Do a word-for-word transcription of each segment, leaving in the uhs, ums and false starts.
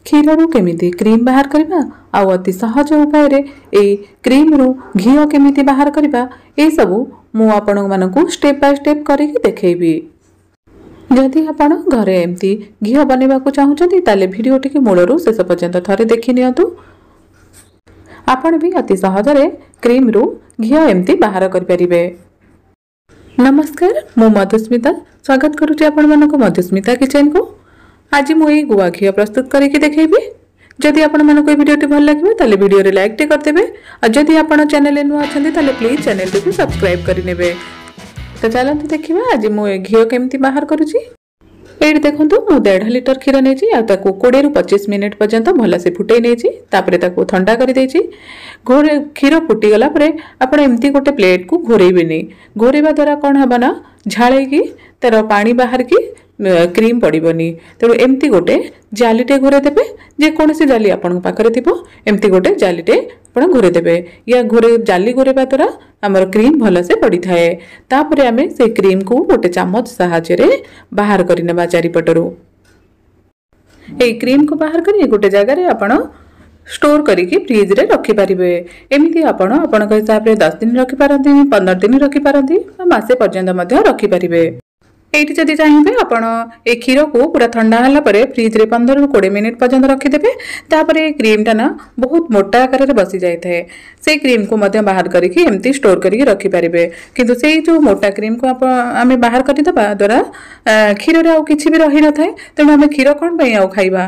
କ୍ଷୀରରୁ କେମିତି କ୍ରିମ୍ ବାହାର କରିବା ଆଉ ଅତି ସହଜ ଉପାୟରେ ଏଇ କ୍ରିମ୍ରୁ ଘିଅ କେମିତି ବାହାର କରିବା, ଏସବୁ ମୁଁ ଆପଣମାନଙ୍କୁ ଷ୍ଟେପ୍ ବାଇ ଷ୍ଟେପ୍ କରିକି ଦେଖେଇବି। ଯଦି ଆପଣ ଘରେ ଏମିତି ଘିଅ ବନେଇବାକୁ ଚାହୁଁଛନ୍ତି, ତାହେଲେ ଭିଡ଼ିଓଟିକୁ ମୂଳରୁ ଶେଷ ପର୍ଯ୍ୟନ୍ତ ଥରେ ଦେଖି ନିଅନ୍ତୁ। ଆପଣ ବି ଅତି ସହଜରେ କ୍ରିମ୍ରୁ ଘିଅ ଏମିତି ବାହାର କରିପାରିବେ। ନମସ୍କାର, ମୁଁ ମଧୁସ୍ମିତା, ସ୍ୱାଗତ କରୁଛି ଆପଣମାନଙ୍କୁ ମଧୁସ୍ମିତା କିଚେନକୁ। ଆଜି ମୁଁ ଏଇ ଗୁଆ ଘିଅ ପ୍ରସ୍ତୁତ କରିକି ଦେଖେଇବି। ଯଦି ଆପଣମାନଙ୍କୁ ଏହି ଭିଡ଼ିଓଟି ଭଲ ଲାଗିବ, ତାହେଲେ ଭିଡ଼ିଓରେ ଲାଇକ୍ଟେ କରିଦେବେ, ଆଉ ଯଦି ଆପଣ ଚ୍ୟାନେଲରେ ନୂଆ ଅଛନ୍ତି, ତାହେଲେ ପ୍ଲିଜ୍ ଚ୍ୟାନେଲଟିକୁ ସବସ୍କ୍ରାଇବ୍ କରିନେବେ। ତ ଚାଲନ୍ତୁ ଦେଖିବା ଆଜି ମୁଁ ଏ ଘିଅ କେମିତି ବାହାର କରୁଛି। ଏଇଠି ଦେଖନ୍ତୁ, ମୁଁ ଦେଢ଼ ଲିଟର କ୍ଷୀର ନେଇଛି ଆଉ ତାକୁ କୋଡ଼ିଏରୁ ପଚିଶ ମିନିଟ୍ ପର୍ଯ୍ୟନ୍ତ ଭଲସେ ଫୁଟେଇ ନେଇଛି। ତାପରେ ତାକୁ ଥଣ୍ଡା କରିଦେଇଛି। ଘୋରେ କ୍ଷୀର ଫୁଟିଗଲା ପରେ ଆପଣ ଏମିତି ଗୋଟେ ପ୍ଲେଟ୍କୁ ଘୋରେଇବେନି। ଘୋରେଇବା ଦ୍ୱାରା କ'ଣ ହେବ ନା, ଝାଳେଇକି ତାର ପାଣି ବାହାରିକି କ୍ରିମ୍ ପଡ଼ିବନି। ତେଣୁ ଏମିତି ଗୋଟେ ଜାଲିଟେ ଘୋରେଇ ଦେବେ। ଯେକୌଣସି ଜାଲି ଆପଣଙ୍କ ପାଖରେ ଥିବ, ଏମିତି ଗୋଟେ ଜାଲିଟେ ଆପଣ ଘୋରେଇ ଦେବେ। ୟା ଘୋରେ ଜାଲି ଘୋରେଇବା ଦ୍ୱାରା ଆମର କ୍ରିମ୍ ଭଲସେ ପଡ଼ିଥାଏ। ତାପରେ ଆମେ ସେଇ କ୍ରିମ୍କୁ ଗୋଟେ ଚାମଚ ସାହାଯ୍ୟରେ ବାହାର କରିନେବା ଚାରିପଟରୁ। ଏଇ କ୍ରିମ୍କୁ ବାହାର କରି ଗୋଟେ ଜାଗାରେ ଆପଣ ଷ୍ଟୋର କରିକି ଫ୍ରିଜରେ ରଖିପାରିବେ। ଏମିତି ଆପଣ ଆପଣଙ୍କ ହିସାବରେ ଦଶ ଦିନ ରଖିପାରନ୍ତି, ପନ୍ଦର ଦିନ ରଖିପାରନ୍ତି ବା ମାସେ ପର୍ଯ୍ୟନ୍ତ ମଧ୍ୟ ରଖିପାରିବେ। ଏଇଠି ଯଦି ଚାହିଁବେ, ଆପଣ ଏ କ୍ଷୀରକୁ ପୁରା ଥଣ୍ଡା ହେଲା ପରେ ଫ୍ରିଜରେ ପନ୍ଦରରୁ କୋଡ଼ିଏ ମିନିଟ୍ ପର୍ଯ୍ୟନ୍ତ ରଖିଦେବେ। ତାପରେ ଏ କ୍ରିମ୍ଟା ନା ବହୁତ ମୋଟା ଆକାରରେ ବସି ଯାଇଥାଏ। ସେଇ କ୍ରିମ୍କୁ ମଧ୍ୟ ବାହାର କରିକି ଏମିତି ଷ୍ଟୋର କରିକି ରଖିପାରିବେ। କିନ୍ତୁ ସେଇ ଯେଉଁ ମୋଟା କ୍ରିମ୍କୁ ଆପଣ ଆମେ ବାହାର କରିଦେବା ଦ୍ୱାରା କ୍ଷୀରରେ ଆଉ କିଛି ବି ରହିନଥାଏ। ତେଣୁ ଆମେ କ୍ଷୀର କ'ଣ ପାଇଁ ଆଉ ଖାଇବା?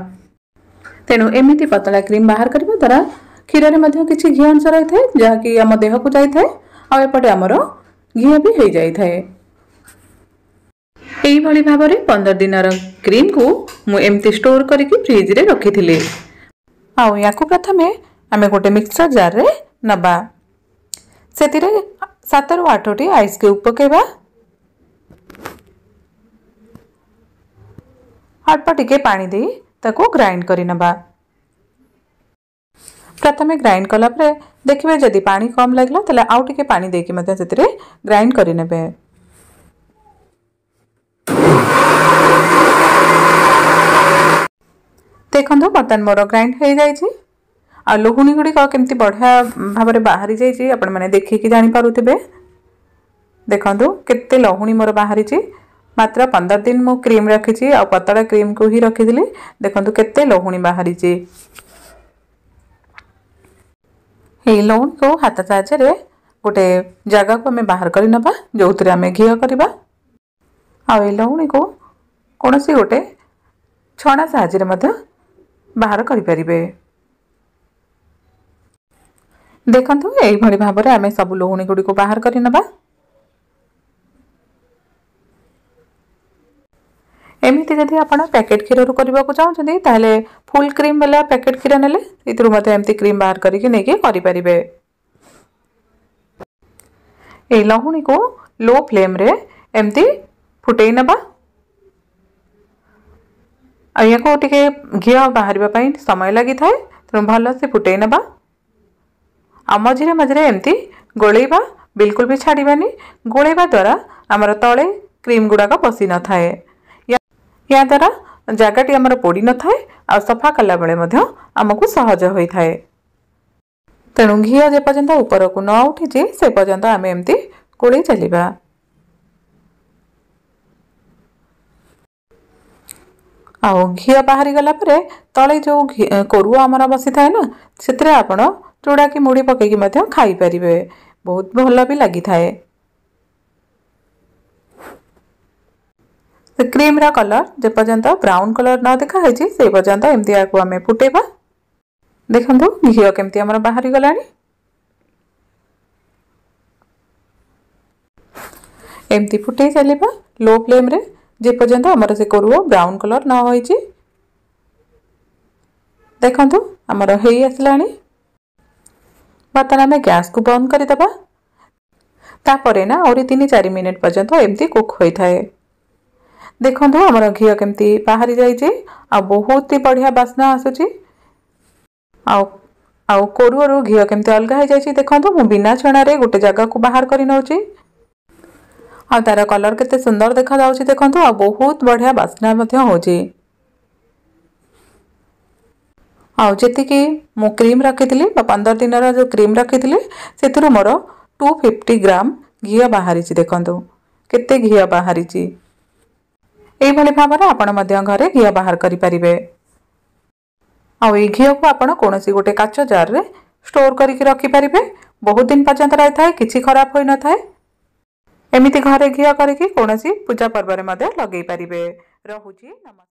ତେଣୁ ଏମିତି ପତଳା କ୍ରିମ୍ ବାହାର କରିବା ଦ୍ୱାରା କ୍ଷୀରରେ ମଧ୍ୟ କିଛି ଘିଅ ଅଂଶ ରହିଥାଏ, ଯାହାକି ଆମ ଦେହକୁ ଯାଇଥାଏ, ଆଉ ଏପଟେ ଆମର ଘିଅ ବି ହେଇଯାଇଥାଏ। ଏଇଭଳି ଭାବରେ ପନ୍ଦର ଦିନର କ୍ରିମ୍କୁ ମୁଁ ଏମିତି ଷ୍ଟୋର କରିକି ଫ୍ରିଜରେ ରଖିଥିଲି। ଆଉ ୟାକୁ ପ୍ରଥମେ ଆମେ ଗୋଟେ ମିକ୍ସର ଜାର୍ରେ ନେବା, ସେଥିରେ ସାତରୁ ଆଠଟି ଆଇସ୍ କ୍ୟୁବ୍ ପକାଇବା, ଅଳ୍ପ ଟିକେ ପାଣି ଦେଇ ତାକୁ ଗ୍ରାଇଣ୍ଡ କରିନେବା। ପ୍ରଥମେ ଗ୍ରାଇଣ୍ଡ କଲା ପରେ ଦେଖିବେ, ଯଦି ପାଣି କମ୍ ଲାଗିଲା ତାହେଲେ ଆଉ ଟିକେ ପାଣି ଦେଇକି ମଧ୍ୟ ସେଥିରେ ଗ୍ରାଇଣ୍ଡ କରିନେବେ। ଦେଖନ୍ତୁ, ବର୍ତ୍ତମାନ ମୋର ଗ୍ରାଇଣ୍ଡ ହେଇଯାଇଛି ଆଉ ଲହୁଣୀ ଗୁଡ଼ିକ କେମିତି ବଢ଼ିଆ ଭାବରେ ବାହାରି ଯାଇଛି, ଆପଣମାନେ ଦେଖିକି ଜାଣିପାରୁଥିବେ। ଦେଖନ୍ତୁ କେତେ ଲହୁଣୀ ମୋର ବାହାରିଛି। ମାତ୍ର ପନ୍ଦର ଦିନ ମୁଁ କ୍ରିମ୍ ରଖିଛି ଆଉ ପତଳା କ୍ରିମ୍କୁ ହିଁ ରଖିଥିଲି। ଦେଖନ୍ତୁ କେତେ ଲହୁଣୀ ବାହାରିଛି। ଏଇ ଲହୁଣୀକୁ ହାତ ସାହାଯ୍ୟରେ ଗୋଟେ ଜାଗାକୁ ଆମେ ବାହାର କରି ନେବା, ଯେଉଁଥିରେ ଆମେ ଘିଅ କରିବା। ଆଉ ଏଇ ଲହୁଣୀକୁ କୌଣସି ଗୋଟେ ଛଣା ସାହାଯ୍ୟରେ ମଧ୍ୟ ବାହାର କରିପାରିବେ। ଦେଖନ୍ତୁ, ଏଇଭଳି ଭାବରେ ଆମେ ସବୁ ଲହୁଣୀ ଗୁଡ଼ିକୁ ବାହାର କରି ନେବା। ଏମିତି ଯଦି ଆପଣ ପ୍ୟାକେଟ୍ କ୍ଷୀରରୁ କରିବାକୁ ଚାହୁଁଛନ୍ତି, ତାହେଲେ ଫୁଲ୍ କ୍ରିମ୍ ବାଲା ପ୍ୟାକେଟ୍ କ୍ଷୀର ନେଲେ ଏଥିରୁ ମଧ୍ୟ ଏମିତି କ୍ରିମ୍ ବାହାର କରିକି ନେଇକି କରିପାରିବେ। ଏଇ ଲହୁଣୀକୁ ଲୋ ଫ୍ଲେମ୍ରେ ଏମିତି ଫୁଟେଇ ନେବା, ଆଉ ୟାକୁ ଟିକେ ଘିଅ ବାହାରିବା ପାଇଁ ସମୟ ଲାଗିଥାଏ, ତେଣୁ ଭଲସେ ଫୁଟେଇ ନେବା ଆଉ ମଝିରେ ମଝିରେ ଏମିତି ଗୋଳେଇବା, ବିଲକୁଲ ବି ଛାଡ଼ିବାନି। ଗୋଳେଇବା ଦ୍ୱାରା ଆମର ତଳେ କ୍ରିମ୍ ଗୁଡ଼ାକ ବସି ନଥାଏ, ୟା ଦ୍ୱାରା ଜାଗାଟି ଆମର ପୋଡ଼ି ନଥାଏ, ଆଉ ସଫା କଲାବେଳେ ମଧ୍ୟ ଆମକୁ ସହଜ ହୋଇଥାଏ। ତେଣୁ ଘିଅ ଯେପର୍ଯ୍ୟନ୍ତ ଉପରକୁ ନ ଉଠିଛି, ସେ ପର୍ଯ୍ୟନ୍ତ ଆମେ ଏମିତି ଗୋଳେଇ ଚାଲିବା। ଆଉ ଘିଅ ବାହାରିଗଲା ପରେ ତଳେ ଯେଉଁ କୋରୁଅ ଆମର ବସିଥାଏ ନା, ସେଥିରେ ଆପଣ ଚୁଡ଼ା କି ମୁଢ଼ି ପକାଇକି ମଧ୍ୟ ଖାଇପାରିବେ, ବହୁତ ଭଲ ବି ଲାଗିଥାଏ। ସେ କ୍ରିମ୍ର କଲର୍ ଯେପର୍ଯ୍ୟନ୍ତ ବ୍ରାଉନ୍ କଲର୍ ନ ଦେଖାହେଇଛି, ସେ ପର୍ଯ୍ୟନ୍ତ ଏମିତି ଏହାକୁ ଆମେ ଫୁଟେଇବା। ଦେଖନ୍ତୁ ଘିଅ କେମିତି ଆମର ବାହାରିଗଲାଣି। ଏମିତି ଫୁଟେଇ ଚାଲିବା ଲୋ ଫ୍ଲେମ୍ରେ, ଯେପର୍ଯ୍ୟନ୍ତ ଆମର ସେ କୋରୁଅ ବ୍ରାଉନ୍ କଲର୍ ନ ହୋଇଛି। ଦେଖନ୍ତୁ ଆମର ହେଇ ଆସିଲାଣି। ବର୍ତ୍ତମାନ ଆମେ ଗ୍ୟାସ୍କୁ ବନ୍ଦ କରିଦେବା। ତାପରେ ନା ଆହୁରି ତିନି ଚାରି ମିନିଟ୍ ପର୍ଯ୍ୟନ୍ତ ଏମିତି କୁକ୍ ହୋଇଥାଏ। ଦେଖନ୍ତୁ ଆମର ଘିଅ କେମିତି ବାହାରି ଯାଇଛି ଆଉ ବହୁତ ହି ବଢ଼ିଆ ବାସ୍ନା ଆସୁଛି, ଆଉ ଆଉ କୋରୁଅରୁ ଘିଅ କେମିତି ଅଲଗା ହେଇଯାଇଛି। ଦେଖନ୍ତୁ, ମୁଁ ବିନା ଛଣାରେ ଗୋଟେ ଜାଗାକୁ ବାହାର କରି ନେଉଛି, ଆଉ ତାର କଲର୍ କେତେ ସୁନ୍ଦର ଦେଖାଯାଉଛି ଦେଖନ୍ତୁ, ଆଉ ବହୁତ ବଢ଼ିଆ ବାସ୍ନା ମଧ୍ୟ ହେଉଛି। ଆଉ ଯେତିକି ମୁଁ କ୍ରିମ୍ ରଖିଥିଲି ବା ପନ୍ଦର ଦିନର ଯେଉଁ କ୍ରିମ୍ ରଖିଥିଲି, ସେଥିରୁ ମୋର ଟୁ ଫିଫ୍ଟି ଗ୍ରାମ ଘିଅ ବାହାରିଛି। ଦେଖନ୍ତୁ କେତେ ଘିଅ ବାହାରିଛି। ଏଇଭଳି ଭାବରେ ଆପଣ ମଧ୍ୟ ଘରେ ଘିଅ ବାହାର କରିପାରିବେ। ଆଉ ଏଇ ଘିଅକୁ ଆପଣ କୌଣସି ଗୋଟେ କାଚ ଜାର୍ରେ ଷ୍ଟୋର୍ କରିକି ରଖିପାରିବେ, ବହୁତ ଦିନ ପର୍ଯ୍ୟନ୍ତ ରହିଥାଏ, କିଛି ଖରାପ ହୋଇନଥାଏ। ଏମିତି ଘରେ ଘିଅ କରିକି କୌଣସି ପୂଜା ପର୍ବରେ ମଧ୍ୟ ଲଗେଇ ପାରିବେ। ରହୁଛି, ନମସ୍କାର।